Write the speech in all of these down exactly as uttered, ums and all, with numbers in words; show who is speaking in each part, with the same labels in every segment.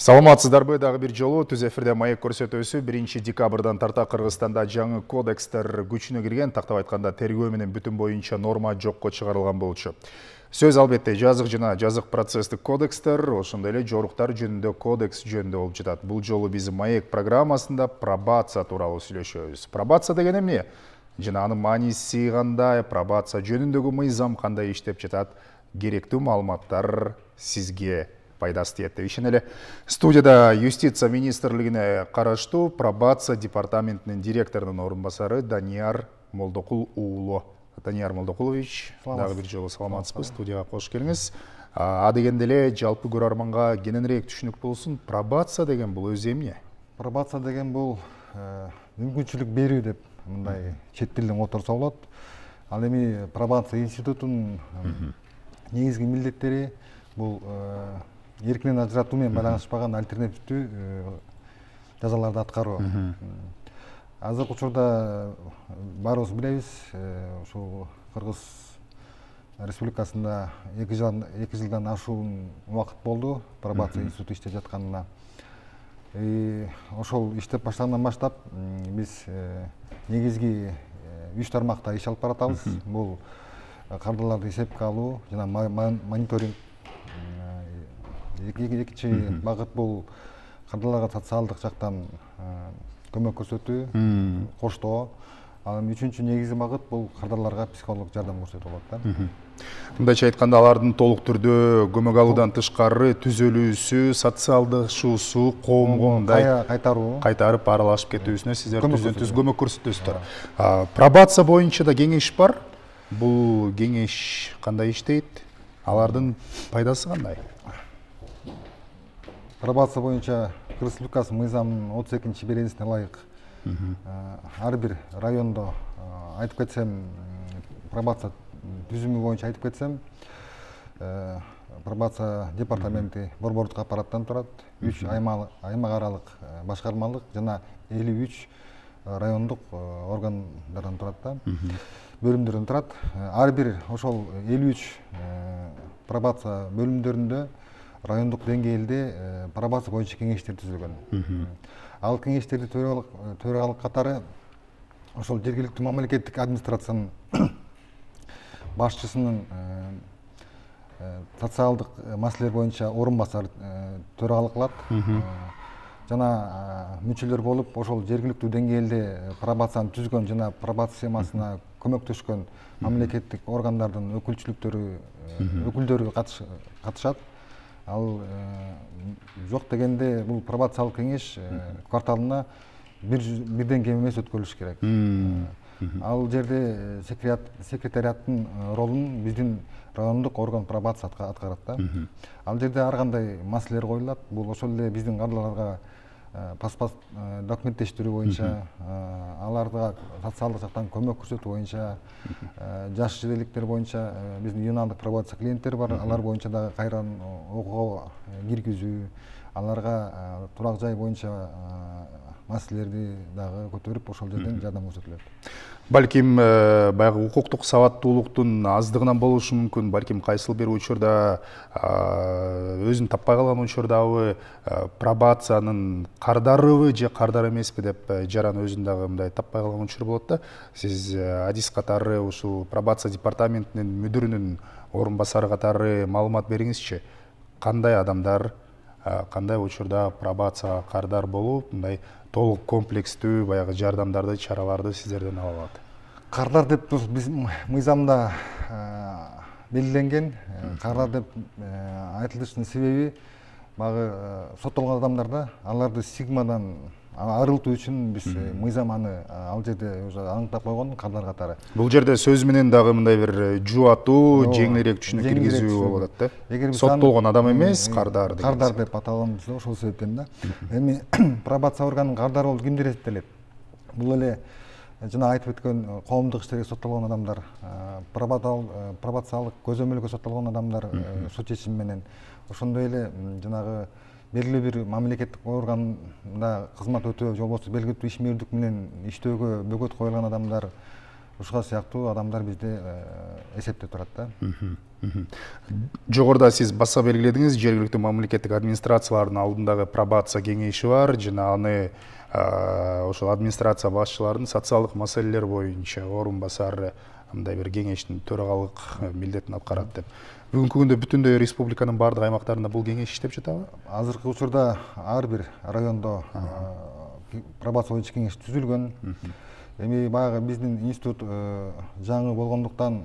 Speaker 1: Саламатсыздарбы, дагы бир жолу түз эфирде маек көрсөтүүсү биринчи декабрдан тарта Кыргызстанда жаңы кодекстер күчүнө кирген, тактап айтканда тергөө менен бүтүн боюнча норма жокко чыгарылган болчу. Сөз албетте жазык жана жазык процесстик кодекстер, ошондой эле жоруктар жөнүндө кодекс жөнүндө болуп жатат. Бул жолу биз маек программасында пробация тууралуу сүйлөшөбүз. Пробация деген эмне? Жана анын мааниси кандай, пробация жөнүндөгү мыйзам кандай иштеп жатат? Керектүү маалыматтар сизге пайдасы тиет деп ишенем эле. Студияда юстиция министрлигине караштуу пробация департаментинин директорунун орун басары Данияр Молдокул уулу. Данияр Молдокулович, дагы бир жолу саламатсызбы, студияга кош келиңиз. А дегенде эле жалпы көрөрманга кененирээк түшүнүк болсун, пробация деген бул өзү эмне?
Speaker 2: Пробация деген бул мүмкүнчүлүк берүү деп мындай чет тилден которсо болот. Ал эми пробация институтунун негизги милдеттери бул эркинен ажыратуу менен байланышпаган альтернативдүү жазаларды аткаруу. Азыркы учурда баарыбыз билебиз, ушул Кыргыз Республикасында эки жылдан ашуун убакыт болду пробация институту иштеп жатканына. Ошол иштеп баштагандан баштап биз негизги үч тармакта иш алып баратабыз. Бул кардарларды эсепке алуу жана мониторинг. Экинчи багыт бул кардарларга социалдык жактан көмөк көрсөтүү, коштоо. Ал эми үчүнчү негизги багыт бул кардарларга психологдук жардам көрсөтүү болот да.
Speaker 1: Мындайча айтканда, алардын толук түрдө көмөк алуудан тышкары түзөлүүсү, социалдашуусу, коомго мындай
Speaker 2: кайтаруу,
Speaker 1: кайтарып аралашып кетүүсүнө сиздер түздөн түз көмөк көрсөтөсүздөр. Пробация боюнча да кеңеш бар. Бул кеңеш кандай иштейт? Алардын пайдасы кандай?
Speaker 2: Пробация боюнча Кыргыз Республикасынын мыйзамынын отуз экинчи беренесине ылайык ар бир райондо айтып кетсем, пробация түзүмү боюнча айтып кетсем, пробация департаменти борбордук аппараттан турат, үч аймак аралык башкармалык жана элүү үч райондук органдардан турат да, бөлүмдөрдөн турат. Ар бир ошол элүү үч пробация бөлүмдөрүндө райондук деңгээлде пробация боюнча кеңештер түзүлгөн. Ал кеңештерди төрагалык катары ошол жергиликтүү мамлекеттик администрациянын башчысынын социалдык маселелер боюнча орун басары төрагалык кылат. Жана мүчөлөр болуп, ошол жергиликтүү деңгээлде пробацияны түзгөн жана пробация системасына көмөктөшкөн мамлекеттик органдардын өкүлчүлүктөрү, өкүлдөрү катышат. Ал жок дегенде бул пробациялык кеңеш кварталына бирден кем эмес өткөрүлүш керек. Ал жерде секретариаттын ролун биздин райондук орган пробация аткарат да. Ал жерде ар кандай маселелер коюлат. Бул ошол эле биздин кардарларга паспорт документтештирүү боюнча, аларга социалдык жактан көмөк көрсөтүү боюнча, жаш жебеликтер боюнча биздин юнандык пробация клиенттери бар, алар боюнча дагы кайрадан окууга киргизүү, аларга турак жай боюнча маселелерди дагы көтөрүп, ошол жерден жардам көрсөтүлөт.
Speaker 1: Балким баягы укуктук сабаттуулуктун аздыгынан болушу мүмкүн, балким кайсыл бир учурда өзүн таппай калган учурдабы пробациянын кардарыбы же кардар эмеспи деп жаран өзүн дагы мындай таппай калган учур болот да. Сиз адис катары ушул пробация департаментинин мүдүрүнүн орун басары катары маалымат бериңизчи. Кандай адамдар кандай учурда пробацияга кардар болуп, мындай толук комплекстүү баягы жардамдарды, чараларды сиздерден ала алат?
Speaker 2: Кардар деп биз мыйзамда белгиленген. Кардар деп айтылышынын себеби багы соттолгон адамдарда аларды стигмадан арылтуу үчүн биз мыйзам аны ал жерде уже аныктап койгон кардар катары.
Speaker 1: Бул жерде сөз менен дагы мындай бир жубатуу, жеңилирээк түшүнүк киргизүү болуп атат да. Соттолгон адам эмес, кардар деген.
Speaker 2: Кардар деп аталганыбыз ошол себептен да. Эми пробация органынын кардары болуп кимдер эсептелет? Бул эле жана айтып өткөн коомдук иштерге соттолгон адамдар, пробациялык көзөмөлгө соттолгон адамдар сот чечими менен, ошондой эле жанагы белгилүү бир мамлекеттик органда кызмат өтөө же болбосо белгилүү иш мээрдик менен иштөөгө бөгөт коюлган адамдар, ушуга сыяктуу адамдар бизде эсепте турат да.
Speaker 1: Жогоруда сиз баса белгиледиңиз, жергиликтүү мамлекеттик администрациялардын алдындагы пробация кеңеши бар жана аны ошол администрация башчыларынын социалдык маселелер боюнча орун басары мындай бир кеңештин төрагалык милдетин аткарат деп. Бүгүнкү күндө бүтүндөй республиканын баардык аймактарында бул кеңеш иштеп жатабы?
Speaker 2: Азыркы учурда ар бир райондо пробация боюнча кеңеш түзүлгөн. Эми баягы биздин институт жаңы болгондуктан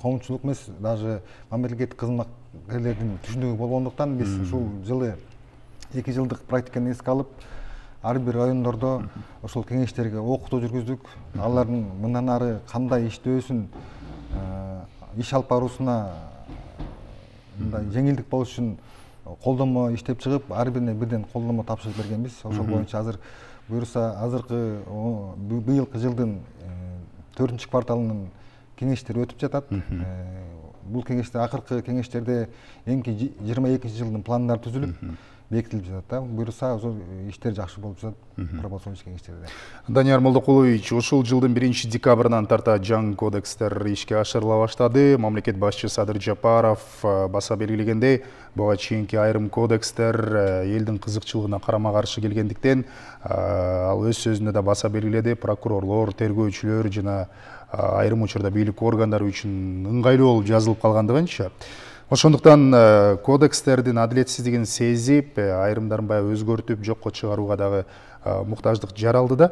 Speaker 2: коомчулук эмес, даже мамлекеттик кызматкерлердин түшүнүгү болгондуктан биз ушул жылы эки жылдык практиканы эске алып, ар бир райондордо ошол кеңештерге окутуу жүргүздүк. Алардын мындан ары кандай иштөөсүн, иш алып баруусуна мындай жеңилдик болуш үчүн колдомо иштеп чыгып, ар бирине бирден колдомо тапшырып бергенбиз. Ошол боюнча азыр буюрса азыркы быйылкы жылдын төртүнчү кварталынын кеңештери өтүп жатат. Бул кеңеште акыркы кеңештерде эми жыйырма экинчи жылдын пландары түзүлүп бекитилип жатат да. Буюрса иштер жакшы болуп жатат пробация боюнча кеңештерде.
Speaker 1: Данияр Молдокулович, ушул жылдын биринчи декабрынан тарта жаңы кодекстер ишке ашырыла баштады. Мамлекет башчысы Садыр Жапаров баса белгилегендей, буга чейинки айрым кодекстер элдин кызыкчылыгына карама каршы келгендиктен, ал өз сөзүндө да баса белгиледи, прокурорлор, тергөөчүлөр жана айрым учурда бийлик органдары үчүн ыңгайлуу болуп жазылып калгандыгынча. Ошондуктан кодекстердин адилетсиздигин сезип, айрымдарын баягы өзгөртүп, жокко чыгарууга дагы муктаждык жаралды да.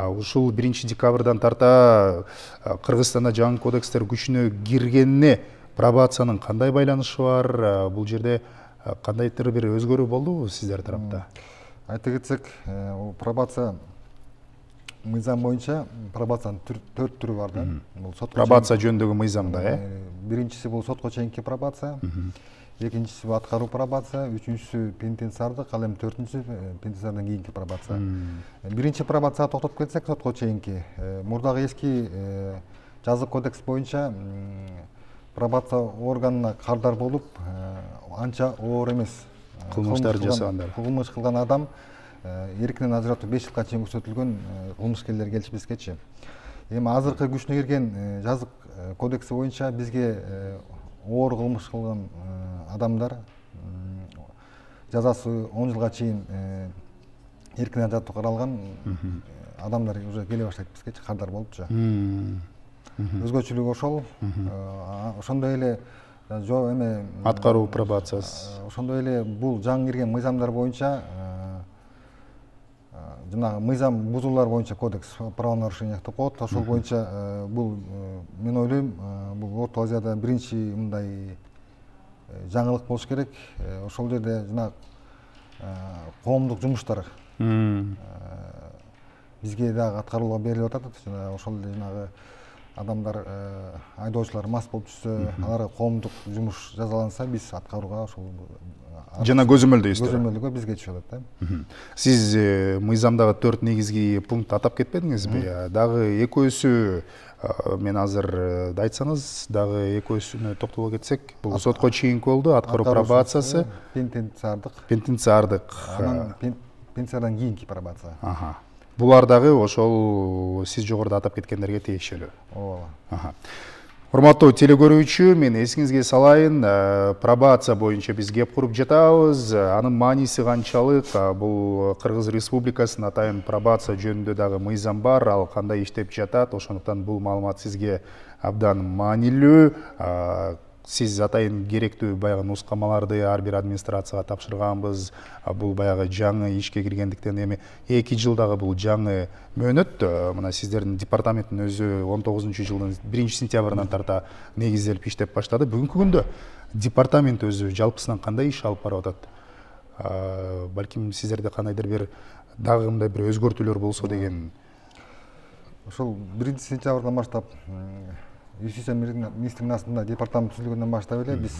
Speaker 1: Ушул биринчи декабрдан тарта Кыргызстанда жаңы кодекстер күчүнө киргенине пробациянын кандай байланышы бар? Бул жерде кандайдыр бир өзгөрүү болдубу сиздер тарапта?
Speaker 2: Айта кетсек, пробация мыйзам боюнча пробациянын төрт түрү бар да. Бул сотко
Speaker 1: пробация жөнүндөгү мыйзамда, э?
Speaker 2: Биринчиси бул сотко чейинки пробация, экинчиси аткаруу пробация, үчүнчүсү пенитенциардык, ал эми төртүнчүсү пенитенциардан кийинки пробация. Биринчи пробацияга токтоп кетсек, сотко чейинки, мурдагы эски жазык кодекс боюнча пробация органына кардар болуп, анча оор эмес
Speaker 1: кылмыштар жасагандар.
Speaker 2: Кылмыш кылган адам эркинен ажыратуу беш жылга чейин көрсөтүлгөн кылмышкерлер келишип бизгечи. Эми азыркы күчүнө кирген жазык кодекси боюнча бизге оор кылмыш кылган адамдар жазасы он жылга чейин эркинен ажыратуу каралган адамдар уже келе баштайт бизгечи, кардар болупчу. Өзгөчөлүгү ошол. Ошондой эле жо эме
Speaker 1: аткаруу пробациясы.
Speaker 2: Ошондой эле бул жаңы кирген мыйзамдар боюнча жанагы мыйзам бузуулар боюнча кодекс, правонарушение деп коет. Ошол боюнча бул мен ойлойм, бул Орто Азияда биринчи мындай жаңылык болуш керек. Ошол жерде жанагы коомдук жумуштар бизге дагы аткарууга берилип атат. Жана ошол эле жанагы адамдар, айдоочулар мас болуп жүрсө, аларга коомдук жумуш жазаланса, биз аткарууга ошол
Speaker 1: жана көзөмөлдөйсүз.
Speaker 2: Көзөмөлдөгө бизге түшүп атат да.
Speaker 1: Сиз мыйзамдагы төрт негизги пункт атап кетпедиңизби? Дагы экөөсү, мен азыр да айтсаңыз, дагы экөөсүнө токтоло кетсек, бул сотко чейинки болду, аткаруу пробациясы,
Speaker 2: пенитенциардык.
Speaker 1: Пенитенциардык.
Speaker 2: Анан пенитенциардан кийинки пробация.
Speaker 1: Булар дагы ошол сиз жогоруда атап кеткендерге тиешелүү.
Speaker 2: Ооба.
Speaker 1: Урматтуу телекөрүүчү, мен эсиңизге салайын, пробация боюнча биз кеп куруп жатабыз. Анын мааниси канчалык? Бул Кыргыз Республикасынын атайын пробация жөнүндө дагы мыйзам бар, ал кандай иштеп жатат? Ошондуктан бул маалымат сизге абдан маанилүү. Сиз атайын керектүү баягы нускамаларды ар бир администрацияга тапшырганбыз. Бул баягы жаңы ишке киргендиктен эми эки жылдагы бул жаңы мөөнөт. Мына сиздердин департаменттин өзү он тогузунчу жылдын биринчи сентябрынан тарта негизделип иштеп баштады. Бүгүнкү күндө департамент өзү жалпысынан кандай иш алып барып атат? Балким сиздерде кандайдыр бир дагы мындай бир өзгөртүүлөр болсо деген.
Speaker 2: Ошол биринчи сентябрдан баштап Юстиция министринин астында департамент түзүлгөндөн баштап эле биз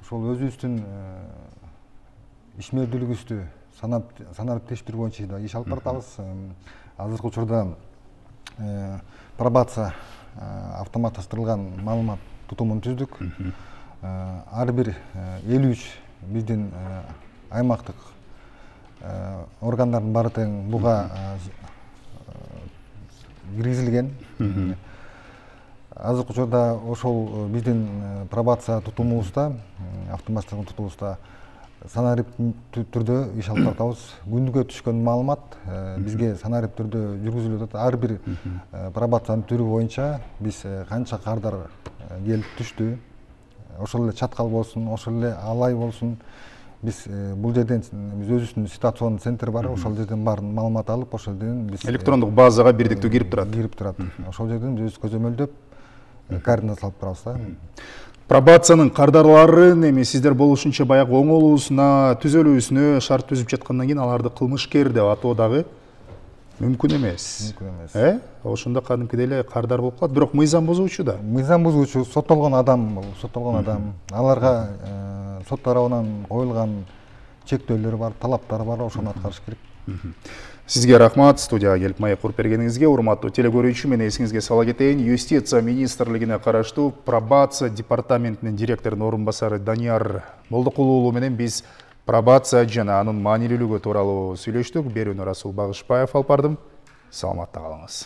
Speaker 2: ошол өзүбүздүн ишмердүүлүгүбүздү саналып тештирүү боюнча иш алып баратабыз. Азыркы учурда пробация автоматташтырылган маалымат тутумун түздүк. Ар бир элүү үч биздин аймактык органдардын баары тең буга киргизилген. Азыркы учурда ошол биздин пробация тутумубузда, автоматтык тутумубузда санарип түрдө иш алып жатабыз. Күндүгө түшкөн маалымат бизге санарип түрдө жүргүзүлүп атат. Ар бир пробациянын түрү боюнча биз канча кардар келип түштү, ошол эле чаткал болсун, ошол эле алай болсун, биз бул жерден биз өзүбүздүн ситуационный центр бар, ошол жерден баарын маалымат алып, ошол жерден биз
Speaker 1: электрондук базага бирдиктүү кирип турат.
Speaker 2: Кирип турат. Ошол жерден биз көзөмөлдөп координат салып турабыз да.
Speaker 1: Пробациянын кардарларын эми сиздер болушунча баягы оңолуусуна, түзөлүүсүнө шарт түзүп жаткандан кийин аларды кылмышкер деп атоо дагы мүмкүн эмес.
Speaker 2: Мүмкүн эмес.
Speaker 1: Э? Ошондо кадимкидей эле кардар болуп калат, бирок мыйзам бузуучу да.
Speaker 2: Мыйзам бузуучу соттолгон адам, соттолгон адам. Аларга сот тарабынан коюлган чектөөлөр бар, талаптар бар, ошону аткарыш керек.
Speaker 1: Сизге рахмат, студияга келип маек куруп бергениңизге. Урматтуу телекөрүүчү, мен эсиңизге сала кетейин, Юстиция министрлигине караштуу пробация департаментинин директорунун орун басары Данияр Молдокулуу уулу менен биз пробация жана анын маанилүүлүгү тууралуу сүйлөштүк. Берүүнү Расул Багышбаев алып бардым. Саламатта калыңыз.